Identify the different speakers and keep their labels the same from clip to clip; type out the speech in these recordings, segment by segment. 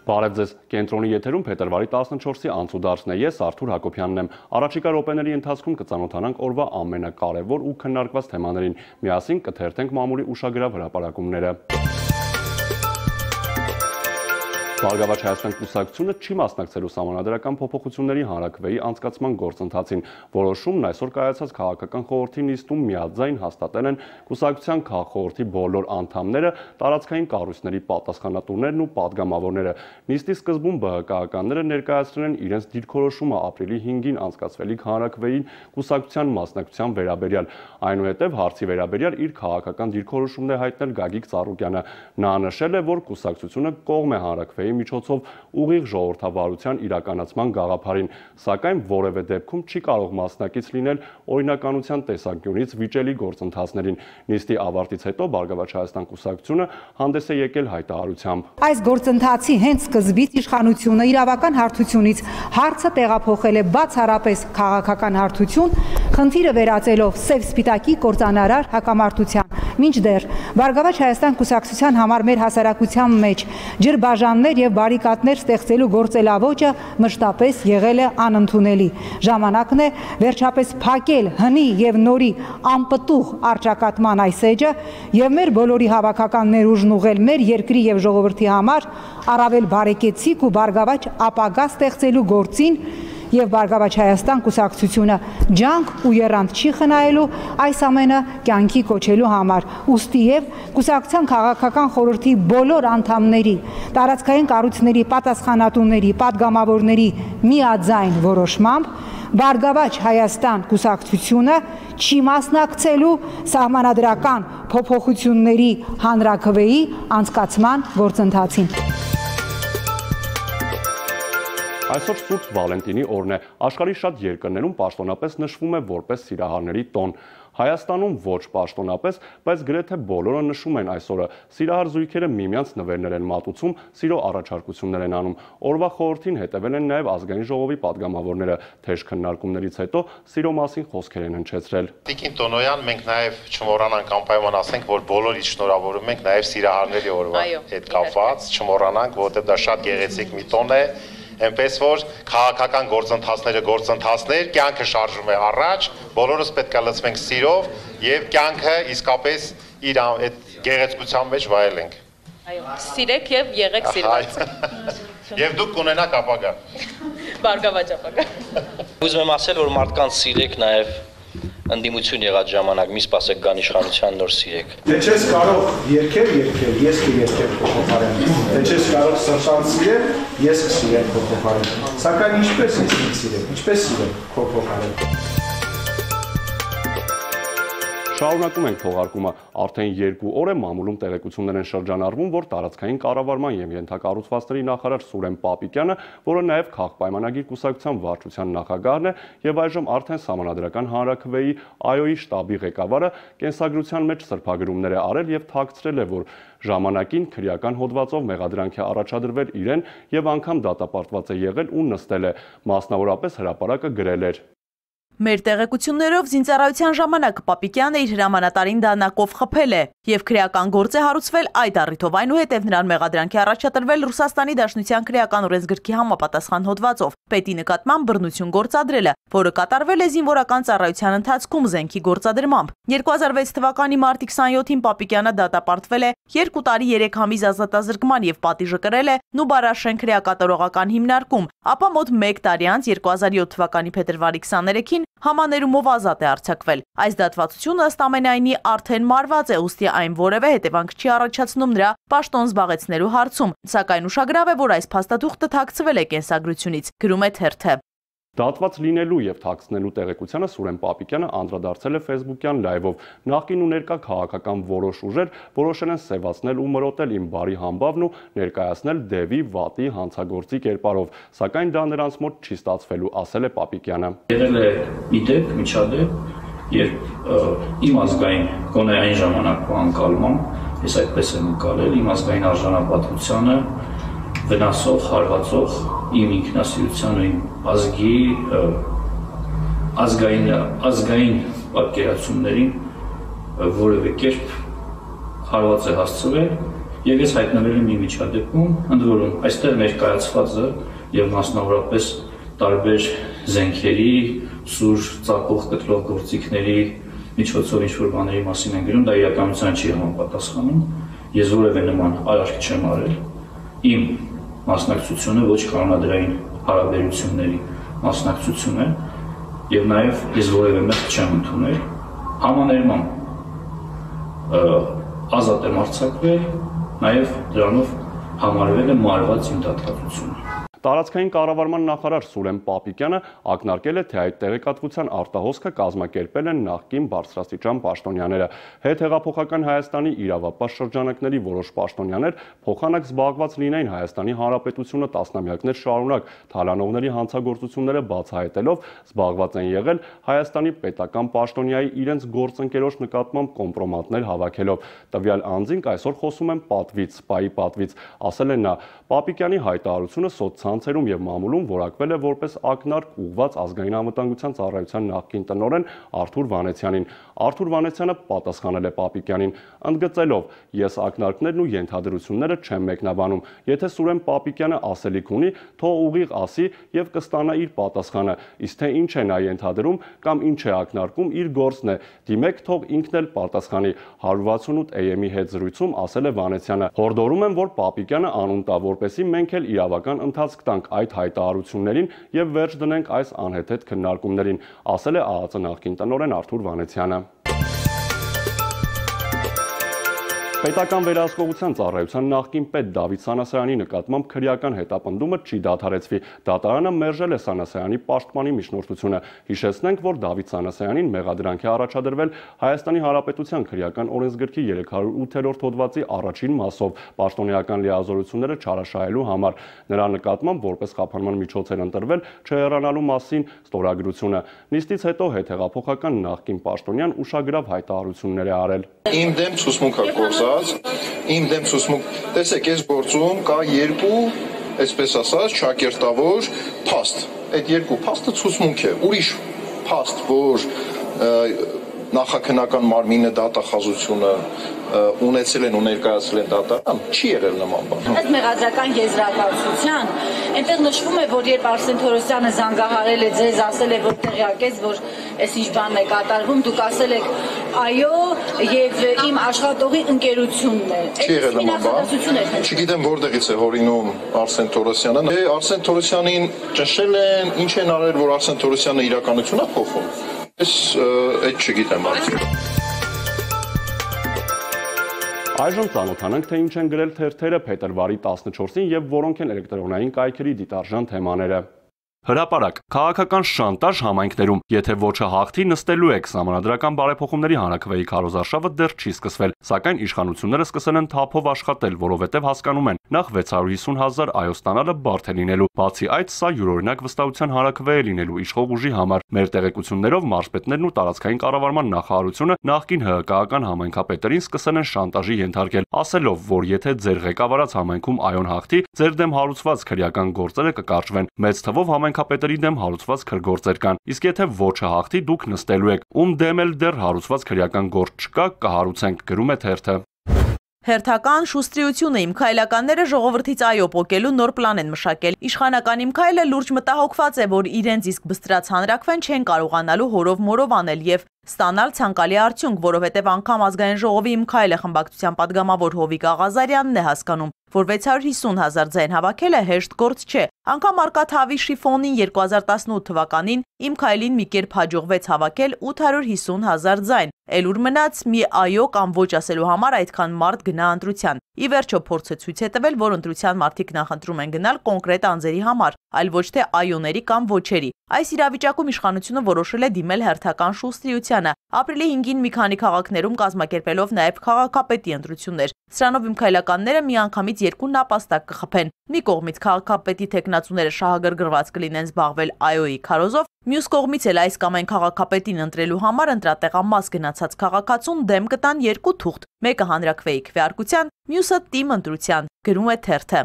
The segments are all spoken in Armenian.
Speaker 1: Բարև ձեզ, կենտրոնի եթերում փետրվարի 14-ի անցուդարձն է, ես Արթուր Հակոբյանն եմ։ Առաջիկա րոպեների ընթացքում կծանոթանանք օրվա ամենակարևոր ու քննարկված թեմաներին, միասին կթերթենք մամուլի ուշագրավ հրապարակումները։ Բարգավաճ Հայաստան կուսակցությունը չի մասնակցելու սահմանադրական փոփոխությունների հանրաքվեի անցկացման գործընթացին։ Որոշումն այսօր կայացած քաղաքական խորհրդի նիստում միաձայն հաստատել են կուսակցության քաղխորհրդի բոլոր անդամները, տարածքային կառույցների պատասխանատուներն ու падգամավորները։ Նիստի սկզբում ԲՀԿ-ականները ներկայացրել են իրենց դիրքորոշումը ապրիլի 5-ին անցկացվելիք հանրաքվեին կուսակցության մասնակցության վերաբերյալ։ Այնուհետև հարցի վերաբերյալ իր քաղաքական դիրքորոշումն է հայտնել Գագիկ Ծառուկյանը։ Նա նշել է, որ կուսակցությունը կողմ է հանրաքվեի միջոցով ուղիղ ժողովրդավարության իրականացման գաղափարին, սակայն որևէ դեպքում չի կարող մասնակից լինել օրինականության տեսանկյունից վիճելի գործընթացներին։ Նիստի ավարտից հետո Բարգավաճ Հայաստան կուսակցությունը հանդես է եկել հայտարարությամբ։
Speaker 2: Այս գործընթացի հենց սկզբից իշխանությունը իրավական հարթությունից հարցը տեղափոխել է բացառապես քաղաքական հարթություն, խնդիրը վերածելով սև-սպիտակի կործանարար հակամարտության։ Մինչդեռ Բարգավաճ Հայաստան կուսակցության համար մեր հասարակության մեջ ջրբաժաններ եւ բարիկադներ ստեղծելու գործելավոճը մշտապես եղել է անընդունելի։ Ժամանակն է վերջապես փակել հնի եւ նորի անպտուղ արճակատման այս էջը եւ մեր բոլորի հավաքական ներուժն ուղղել մեր երկրի եւ ժողովրդի համար առավել բարեկեցիկ ու բարգավաճ ապագա ստեղծելու գործին եւ Բարգավաճ Հայաստան կուսակցությունը ջանք ու եռանդ չի խնայելու այս ամենը կյանքի կոչելու համար։ Ուստի եւ կուսակցության քաղաքական խորհրդի բոլոր անդամների, տարածքային կառույցների պատասխանատուների, падգամավորների միաձայն որոշմամբ Բարգավաճ Հայաստան կուսակցությունը չի մասնակցելու սահմանադրական փոփոխությունների հանրաքվեի անցկացման գործընթացին։
Speaker 1: Այսօր Սուրբ Վալենտինի օրն է, աշխարհի շատ երկրներում պաշտոնապես նշվում է որպես սիրահարների տոն։ Հայաստանում ոչ պաշտոնապես, բայց գրեթե բոլորը նշում են այս օրը։ Սիրահար զույգերը միմյանց նվերներ են մատուցում, սիրո առաջարկություններ են անում։ Օրվա խորհրդին հետևել են նաև ազգային ժողովի падգամավորները, թեժ քննարկումներից հետո սիրո մասին խոսքեր են հնչեցրել։
Speaker 3: Տիկին Տոնոյան, մենք նաև չմոռանանք անպայման ասենք, որ բոլորից շնորհավորում ենք նաև սիրահարների օրվա հետ կապված, չմոռանանք, որովհետև դա շատ գեղեցիկ մի տոն է։ Այնպես որ քաղաքական գործընթացներ, կյանքը շարժվում է առաջ, բոլորս պետք է լցվենք սիրով եւ կյանքը իսկապես իր այդ գեղեցկության մեջ վայելենք։
Speaker 4: Այո, սիրեք եւ եղեք սիրված։
Speaker 3: Եվ դուք կունենաք ապագա։
Speaker 4: Բարգավաճ ապագա։
Speaker 5: Ուզում եմ ասել, որ մարդկանց սիրեք նաեւ ընդդիմություն եղած ժամանակ, մի սպասեք գան իշխանության նոր սիրեք։
Speaker 6: Դե չես կարող երկել, ես կերկեմ քո փոխարեն։ Դե չես կարող սրտան սիրել, ես կսիրեմ քո փոխարեն։ Սակայն ինչպես ես սիրեմ, ինչպես սիրեմ քո փոխարեն։
Speaker 1: Շարունակում ենք թողարկումը, արդեն 2 օր է մամուլում տեղեկություններ են շրջանառվում, որ տարածքային կառավարման եւ ենթակառուցվածքների նախարար Սուրեն Պապիկյանը, որը նաեւ քաղաքպայմանագիր կուսակցության վարչության նախագահն է եւ այժմ արդեն սահմանադրական հանրաքվեի ԱՅՈ-ի շտաբի ղեկավարը, կենսագրության մեջ սրբագրումներ է արել եւ թաքցրել է, որ ժամանակին քրեական հոդվածով մեղադրանք է առաջադրվել իրեն եւ անգամ դատապարտված է եղել ու նստել է, մասնավորապես հրապարակը գրել էր.
Speaker 7: Մեր տեղեկություններով զինծառայության ժամանակ Պապիկյանը իր հրամանատարին դանակով խփել է եւ քրեական գործ է հարուցվել այդ առիթով, այնուհետև նրան մեղադրանք է առաջադրվել Ռուսաստանի Դաշնության քրեական օրենսգրքի համապատասխան հոդվածով պետի նկատմամբ բռնություն գործադրելը, որը կատարվել է զինվորական ծառայության ընթացքում զենքի գործադրմամբ։ 2006 թվականի մարտի 27-ին Պապիկյանը դատապարտվել է 2 տարի 3 ամիս ազատազրկման եւ պատիժը կրել է Նուբարաշեն քրեակատարողական հիմնարկում, ապա մոտ 1 տարի անց 2007 թվականի փետրվարի 23-ին համաներումով ազատ է արձակվել։ Այս դատվածությունը ըստ ամենայնի արդեն մարված է, ուստի այն որևէ հետևանք չի առաջացնում նրա պաշտոն զբաղեցնելու հարցում, սակայն ուշագրավ է, որ այս փաստաթուղթը թաքցվել է կենսագրությունից, գրում է թերթը։
Speaker 1: Դատված լինելու եւ թաքցնելու տեղեկությանը Սուրեն Պապիկյանը անդրադարձել է Facebook-յան լայվով։ Նախկին ու ներկա քաղաքական որոշ ուժեր որոշել են սևացնել ու մրոտել իմ բարի համբավն ու ներկայացնել դևի, վատի, հանցագործի կերպարով, սակայն դա նրանց մոտ չի ստացվելու, ասել է Պապիկյանը։
Speaker 8: Եղել է մի դեպք, միջադեպ, երբ իմ ազգային գոնե այն ժամանակվա անկալմամբ, ես այդպես եմ ընկալել, իմ ազգային արժանապատվությանը վնասող, հարվածող իմ ինքնասիրության ու իմ ազգի ազգային պատկերացումներին որևէ կերպ հարված է հասցվել եւ ես հայտնվել եմ մի միջադեպում, ընդ որում այստեղ ներկայացվածը եւ մասնավորապես տարբեր զենքերի, սուր ծակող կտրող գործիքների միջոցով ինչ-որ բաների մասին են գրում, դա իրականության չի համապատասխանում, ես որևէ նման արարք չեմ արել, իմ մասնակցությունը ոչ կանոնադրային հարաբերությունների մասնակցություն է եւ նաեւ ես որևէ մեղք չեմ ընդունել, համաներմամբ ազատ եմ արձակվել, նաեւ դրանով համարվել է մարված իմ դատարկությունը։
Speaker 1: Տարածքային կառավարման նախարար Սուրեն Պապիկյանը ակնարկել է, թե այդ տեղեկատվության արտահոսքը կազմակերպել են նախկին բարձրաստիճան պաշտոնյաները։ Հետհեղափոխական Հայաստանի իրավապաշտ շրջանակների որոշ պաշտոնյաներ փոխանակ զբաղված լինեին Հայաստանի Հանրապետությունը տասնամյակներ շարունակ թալանողների հանցագործությունները բացահայտելով, զբաղված են եղել Հայաստանի պետական պաշտոնյայի իրենց գործընկերոջ նկատմամբ կոմպրոմատներ հավաքելով։ Տվյալ անձինք այսօր խոսում են պատվից, սպայի պատվից, ասել է նա։ Պապիկյանի հայտարարությունը սոցցանցերում եւ մամուլում որակվել է որպես ակնարկ ուղղված ազգային անվտանգության ծառայության նախկին տնօրեն Արթուր Վանեցյանին։ Արթուր Վանեցյանը պատասխանել է Պապիկյանին, ընդգծելով. «Ես ակնարկներն ու ենթադրությունները չեմ մեկնաբանում։ Եթե Սուրեն Պապիկյանը ասելիք ունի, թող ուղիղ ասի եւ կստանա իր պատասխանը։ Իսկ թե ինչ է նա ենթադրում կամ ինչ է ակնարկում, իր գործն է։ Դիմեք, թող ինքն էլ պատասխանի»։ 168 AM-ի հետ զրույցում ասել է Վանեցյանը. «Հորդորում եմ, որ Պապիկյանը անուն տա, որպեսզի մենք էլ իրավական ընթացք տանք այդ հայտարարություններին եւ վերջ դնենք այս անհեթեթ քննարկումներին», ասել է ԱԱԾ նախկին տնօրեն Արթուր Վանեցյանը։ Պետական վերահսկողության ծառայության նախկին պետ Դավիթ Սանասարյանի նկատմամբ քրեական հետապնդումը չի դադարեցվի։ Դատարանը մերժել է Սանասարյանի պաշտպանի միջնորդությունը։ Հիշեցնենք, որ Դավիթ Սանասարյանին մեղադրանք է առաջադրվել Հայաստանի Հանրապետության քրեական օրենսգրքի 308-րդ հոդվածի առաջին մասով պաշտոնեական լիազորությունները չարաշահելու համար։ Նրա նկատմամբ որպես խափանման միջոց էր ընտրվել չհեռանալու մասին ստորագրությունը։ Նիստից հետո հետհեղափոխական նախկին պաշտոնյան ուշագրավ հայտարարություններ է արել։
Speaker 9: Իմ դեմ ցուցմունք է գործած, իմ դեմ ցուցմունք, տեսեք, այս գործում կա երկու, այսպես ասած, ճակերտավոր փաստ։ Այդ երկու փաստը ցուցմունք է, ուրիշ փաստ, որ նախաքննական մարմինը դատախազությունը ունեցել են ու ներկայացրել են դատարան, չի եղել նման բան։
Speaker 10: Ըստ մեղադրական եզրակացության, այնտեղ նշվում է, որ երբ Արսեն Թորոսյանը զանգահարել է ձեզ, ասել է, որ տեղյակեց, որ այս ինչ բանն է կատարվում, դուք ասել եք այո, եւ իմ աշխատողի ընկերությունն է։
Speaker 9: Չի եղել նման բան։ Չգիտեմ որտեղից է հորինում Արսեն Թորոսյանը։ Արսեն Թորոսյանին ճնշել են, ինչ են արել, որ Արսեն Թորոսյանը իրականությունն է փոխում։ Ես այդ չգիտեմ արդյոք։
Speaker 1: Այժմ ծանոթանանք, թե ինչ են գրել թերթերը փետրվարի 14-ին եւ որոնք են էլեկտրոնային կայքերի դիտարժան թեմաները։ Հրապարակ, քաղաքական շանտաժ համայնքներում, եթե ոչը հաղթի, նստելու եք, Սահմանադրական բարեփոխումների հանրաքվեի քարոզարշավը դեռ չի սկսվել, սակայն իշխանությունները սկսել են թափով աշխատել, որովհետև հասկանում են, նախ 650,000 այո ստանալը բարդ է լինելու, բացի այդ, սա յուրօրինակ վստահության հանրաքվե է լինելու իշխող ուժի համար։ Մեր տեղեկություններով մարզպետներն ու տարածքային կառավարման նախարարությունը նախկին ՀՀԿ-ական համայնքապետերին սկսել են շանտաժի ենթարկել, ասելով, որ եթե ձեր ղեկավարած համայնքում այոն հաղթի, ձեր դեմ հարուցված քրեական գործերը կկարճվեն, մեծ թվով համայնքապետերի դեմ հարուցված քրգործեր կան, իսկ եթե ոչը հաղթի, դուք նստելու եք, ում դեմ էլ դեռ հարուցված քրեական գործ չկա, կհարուցենք, գրում է թերթը։
Speaker 7: Հերթական շուստրիությունը իմ քայլականները ժողովրդից այո պոկելու նոր պլան են մշակել։ Իշխանական իմ քայլը լուրջ մտահոգված է, որ իրենց իսկ բստրած հանրաքվեն չեն կարողանալու հորով-մորով անել եւ ստանալ ցանկալի արդյունք, որովհետև անգամ ազգային ժողովի իմ քայլը խմբակցության падգամավոր Հովիկ Աղազարյանն է հասկանում, որ 650,000 ձայն հավաքելը հեշտ գործ չէ։ Անգամ Արկադ Հավիշի ֆոնին 2018 թվականին իմ քայլին մի կերպ հաջողվեց հավաքել 850,000 ձայն։ Էլ ուր մնաց մի այո կամ ոչ ասելու համար այդքան մարդ գնա ընտրության։ Ի վերջո փորձը ցույց է տվել, որ ընտրության մարդիկ նախընտրում են գնալ կոնկրետ անձերի համար, այլ ոչ թե այոների կամ ոչերի։ Այս իրավիճակում իշխանությունը որոշել է դիմել հերթական շուստրիությանը, ապրիլի 5-ին մի քանի քաղաքներում կազմակերպելով նաև քաղաքապետի ընտրություններ։ Սրանով իմ քայլականները միանգամից երկու նապաստակ կխփեն։ Մի կողմից քաղաքապետի թեկնածուները շահագրգռված կլինեն զբաղվել այոյի քարոզով, մյուս կողմից էլ այս կամ այն քաղաքապետին ընտրելու համար ընտրատեղամաս գնացած քաղաքացուն դեմ կտան երկու թուղթ, մեկը հանրաքվեի քվեարկության, մյուսը տիմ ընտրության, գրում է թերթը։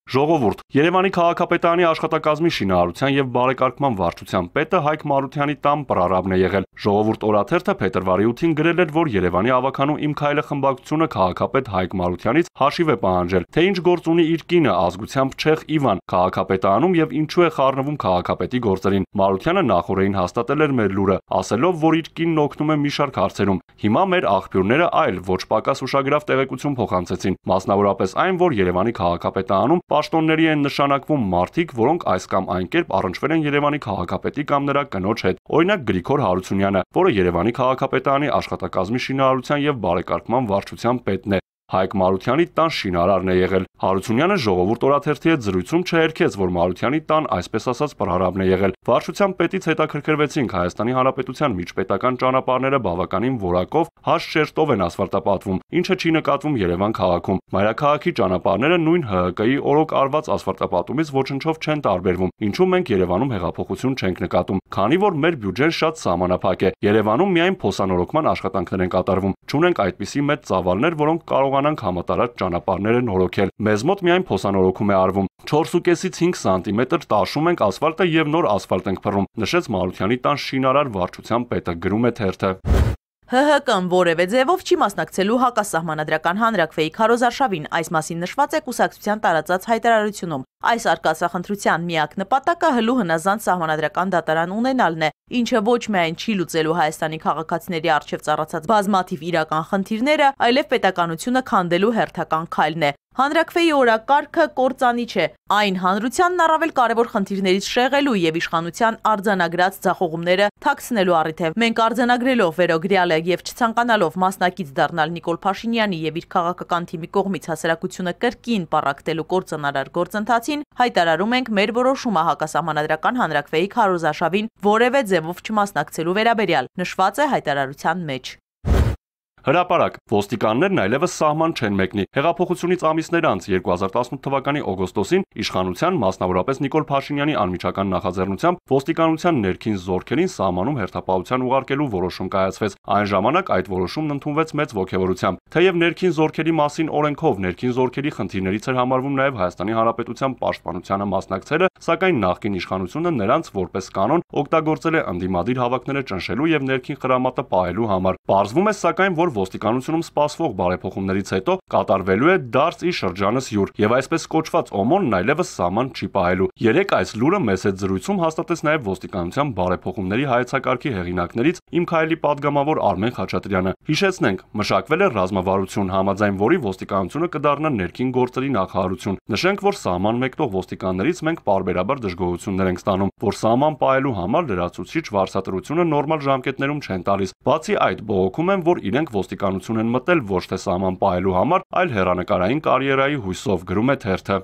Speaker 1: Ժողովուրդ, Երևանի քաղաքապետարանի աշխատակազմի շինարարության եւ բարեկարգման վարչության պետը Հայկ Մարությանի տան պրարաբն է եղել։ Ժողովուրդ օրաթերթը փետրվարի 8-ին գրել էր, որ Երևանի ավականու Իմ քայլը խմբակցությունը քաղաքապետ Հայկ Մարությանից հաշիվ է պահանջել, թե ինչ գործ ունի իր կինը ազգությամբ չեխ Իվան քաղաքապետարանում եւ ինչու է խառնվում քաղաքապետի գործերին։ Մարությանը նախորդին հաստատել էր մեր լուրը, ասելով, որ իր կինն օգնում է մի շարք հարցերում։ Հիմա մեր աղբյուրները այլ ոչ պակաս ուշագրավ տեղեկություն փոխանցեցին, մասնավորապես այն, որ Երևանի քաղաքապետարանում պաշտոնների են նշանակվում մարդիկ, որոնք այս կամ այն կերպ առնչվել են Երևանի քաղաքապետի կամ նրա կնոջ հետ։ Օրինակ Գրիգոր Հարությունյանը, որը Երևանի քաղաքապետարանի աշխատակազմի շինարարության եւ բարեկարգման վարչության պետն է, Հայկ Մարությանի տան շինարարն է եղել։ Հարությունյանը Ժողովուրդ օրաթերթի հետ զրույցում չհերքեց, որ Մարությանի տան այսպես ասած պրարաբն է եղել։ Վարչության պետից հետաքրքրվեցինք Հայաստանի Հանրապետության միջպետական ճանապարհները բավականին որակով հաշ շերտով են ասֆալտապատվում, ինչը չի նկատվում Երևան քաղաքում։ Մայրաքաղաքի ճանապարհները նույն ՀՀԿ-ի օրոք արված ասֆալտապատումից ոչնչով չեն տարբերվում, ինչու մենք Երևանում հեղափոխություն չենք նկատում, քանի որ մեր բյուջեն շատ սահմանափակ է։ Երևանում միայն փոսանորոգման աշխատանքներ են կատարվում։ Չունենք այդպիսի մեծ ծավալներ, որոնք կարողանանք համատարած ճանապարհները նորոգել։ Մեզ մոտ միայն փոսանորոգում է արվում։ 4.5-ից 5 սանտիմետր տաշում ենք ասֆալտը եւ նոր ասֆալտ ենք փռում, նշեց Մարությանի տան շինարար վարչության պետը, գրում է թերթը։
Speaker 7: ՀՀԿ-ն որևէ ձևով չի մասնակցելու հակասահմանադրական հանրաքվեի քարոզարշավին, այս մասին նշված է կուսակցության տարածած հայտարարությունում։ Այս արկածախնդրության միակ նպատակը հլու հնազանդ սահմանադրական դատարան ունենալն է, ինչը ոչ միայն չի լուծելու Հայաստանի քաղաքացիների առջև ծառացած բազմաթիվ իրական խնդիրները, այլև պետականությունը քանդելու հերթական քայլն է։ Հանրաքվեի օրակարգը կործանիչ է, այն հանրությանն առավել կարևոր խնդիրներից շեղելու եւ իշխանության արձանագրած ձախողումները թաքցնելու առիթ է։ Մենք արձանագրելով վերոգրյալը եւ չցանկանալով մասնակից դառնալ Նիկոլ Փաշինյանի եւ իր քաղաքական թիմի կողմից հասարակությունը կրկին պառակտելու կործանարար գործընթացին, հայտարարում ենք մեր որոշումը հակասահմանադրական հանրաքվեի քարոզարշավին որևէ ձևով չմասնակցելու վերաբերյալ, նշված է հայտարարության մեջ։
Speaker 1: Հրապարակ, ոստիկաններն այլևս սահման չեն մեկնի։ Հեղափոխությունից ամիսներ անց 2018 թվականի օգոստոսին իշխանության, մասնավորապես Նիկոլ Փաշինյանի անմիջական նախաձեռնությամբ ոստիկանության ներքին զորքերին սահմանում հերթապահության ուղարկելու որոշում կայացվեց։ Այն ժամանակ այդ որոշումն ընդունվեց մեծ ոգևորությամբ։ Թեև ներքին զորքերի մասին օրենքով ներքին զորքերի խնդիրներից էր համարվում նաև Հայաստանի Հանրապետության պաշտպանությանը մասնակցելը, սակայն նախկին իշխանությունը նրանց որպես կանոն օգտագործել է ընդդիմադիր հավաքները ճնշելու եւ ներքին խրամատը պահելու համար։ Պարզվում է սակայն, որ ոստիկանությունում սպասվող բարեփոխումներից հետո կատարվելու է դարձ ի շրջանս յուր եւ այսպես կոչված օմոնն այլևս սահման չի պահելու։ Երեք այս լուրը մեծ հետ զրույցում հաստատեց նաեւ ոստիկանության բարեփոխումների հայեցակարգի հեղինակներից Իմ քայլի падգամավոր Արմեն Խաչատրյանը։ Հիշեցնենք, մշակվել է ռազմավարություն, համաձայն որի ոստիկանությունը կդառնա ներքին գործերի նախարարություն։ Նշենք, որ սահման մեկնող ոստիկաններից մենք պարբերաբար դժգոհություններ ենք ստանում, որ սահման պահելու համար լրացուցիչ վարձատրությունը նորմալ ժամկետներում չեն տալիս։ Բացի այդ, բողոքում են, որ իրենք ոստիկանություն են մտել ոչ թե սահման պահելու համար, այլ հեռանկարային կարիերայի հույսով, գրում է թերթը։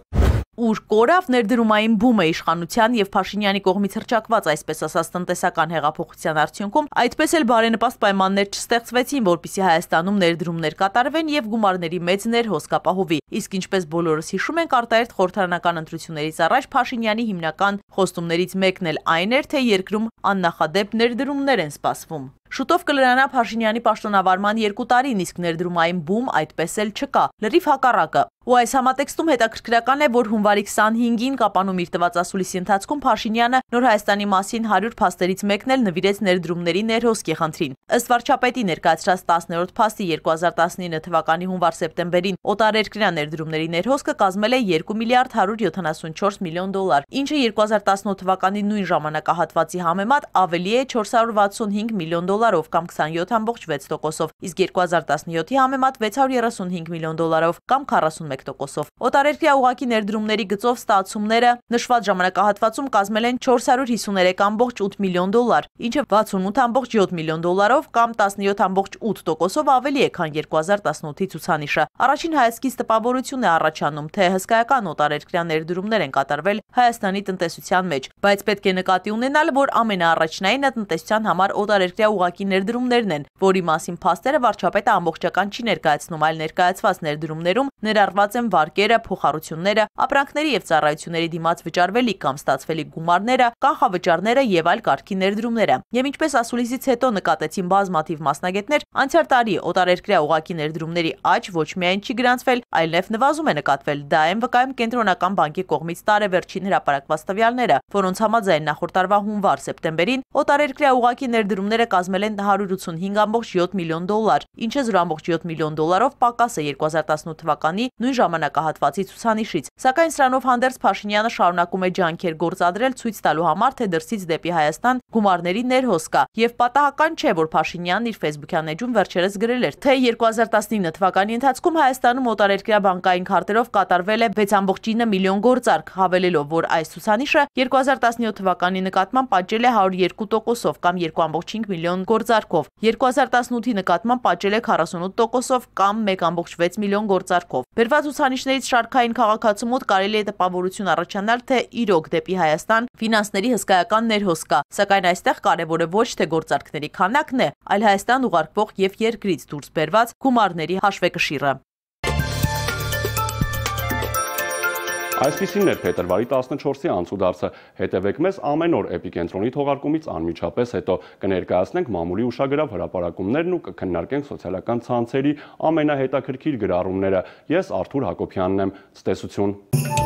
Speaker 7: Ուր կորավ ներդրումային բումը իշխանության եւ Փաշինյանի կողմից հրճակված այսպես ասած տնտեսական հեղափոխության արդյունքում, այդպես էլ բարենպաստ պայմաններ չստեղծվեցին, որպեսզի Հայաստանում ներդրումներ կատարվեն եւ գումարների մեծ ներհոսք ապահովի։ Իսկ ինչպես բոլորս հիշում ենք, արտահերթ խորհրդարանական ընտրություններից առաջ Փաշինյանի հիմնական խոստումներից մեկն էլ այն էր, թե երկրում աննախադեպ ներդրումներ են սպասվում։ Շուտով կլրանա Փաշինյանի պաշտոնավարման 2 տարին, իսկ ներդրումային բում այդպես էլ չկա, լրիվ հակառակը։ Ու այս համատեքստում հետաքրքրական է, որ հունվարի 25-ին Կապանում իր տված ասուլիսի ընթացքում Փաշինյանը Նոր Հայաստանի մասին 100 փաստերից մեկն էլ նվիրեց ներդրումների ներհոսքի խնդրին։ Ըստ վարչապետի ներկայացրած 10-րդ փաստի 2019 թվականի հունվար-սեպտեմբերին օտարերկրյա ներդրումների ներհոսքը կազմել է 2 միլիարդ 174 միլիոն դոլար, ինչը 2018 թվականի նույն ժամանակահատվածի համեմատ ավելի է 465 միլիոն դոլարով կամ 27.6%-ով, իսկ 2017-ի համեմատ 635 միլիոն դոլարով կամ 41%-ով։ Օտարերկրյա ուղղակի ներդրումների գծով ստացումները նշված ժամանակահատվածում կազմել են 453.8 միլիոն դոլար, ինչը 68.7 միլիոն դոլարով կամ 17.8%-ով ավելի է, քան 2018-ի ցուցանիշը։ Առաջին հայացքից տպավորություն է առաջանում, թե հսկայական օտարերկրյա ներդրումներ են կատարվել Հայաստանի տնտեսության մեջ, բայց պետք է նկատի ունենալ, որ ամենաառաջնայինը տնտեսության համար օտարերկրյա ուղղակի ուղղակի ներդրումներն են, որի մասին փաստերը վարչապետը ամբողջական չի ներկայացնում, այլ ներկայացված ներդրումներում ներառված են վարկերը, փոխառությունները, ապրանքների եւ ծառայությունների դիմաց վճարվելիք կամ ստացվելիք գումարները, կանխավճարները եւ այլ կարգի ներդրումները։ Եվ ինչպես ասուլիսից հետո նկատեցին բազմաթիվ մասնագետներ, անցյալ տարի օտարերկրյա ուղղակի ներդրումների աճ ոչ միայն չի գրանցվել, այլև նվազում է նկատվել։ Դա են վկայում Կենտրոնական բանկի կողմից տարեվերջին հրապարակված տվյալները, որոնց համաձայն նախորդ տարվա հունվար-սեպտեմբերին օտարերկրյա ուղղակի ներդրումները կազմել են 185.7 միլիոն դոլար, ինչը 0.7 միլիոն դոլարով պակաս է 2018 թվականի նույն ժամանակահատվածի ցուցանիշից։ Սակայն սրանով հանդերձ Փաշինյանը շարունակում է ջանքեր գործադրել ցույց տալու համար, թե դրսից դեպի Հայաստան գումարների ներհոս կա, եւ պատահական չէ, որ Փաշինյանն իր Facebook-յան էջում վերջերս գրել էր, թե 2019 թվականի ընթացքում Հայաստանում օտարերկրյա բանկային քարտերով կատարվել է 6.9 միլիոն գործարք, հավելելով, որ այս ցուցանիշը 2017 թվականի նկատմամբ պատճել է 102%-ով կամ 2.5 միլիոն գործարքով, 2018-ի նկատմամբ պատճել է 48%-ով կամ 1.6 միլիոն գործարքով։ Բերված ցուցանիշներից շարքային քաղաքացու մոտ կարելի է տպավորություն առաջանալ, թե իրոք դեպի Հայաստան ֆինանսների հսկայական ներհոս կա, սակայն այստեղ կարևորը ոչ թե գործարքների քանակն է, այլ Հայաստան ուղարկվող եւ երկրից դուրս բերված գումարների հաշվեկշիռը։
Speaker 1: Այսպիսին էր փետրվարի 14-ի անցուդարձը։ Հետևեք մեզ ամեն օր Էպիկենտրոնի թողարկումից անմիջապես հետո կներկայացնենք մամուլի ուշագրավ հրապարակումներն ու կքննարկենք սոցիալական ցանցերի ամենահետաքրքիր գրառումները։ Ես Արթուր Հակոբյանն եմ։ Ցտեսություն։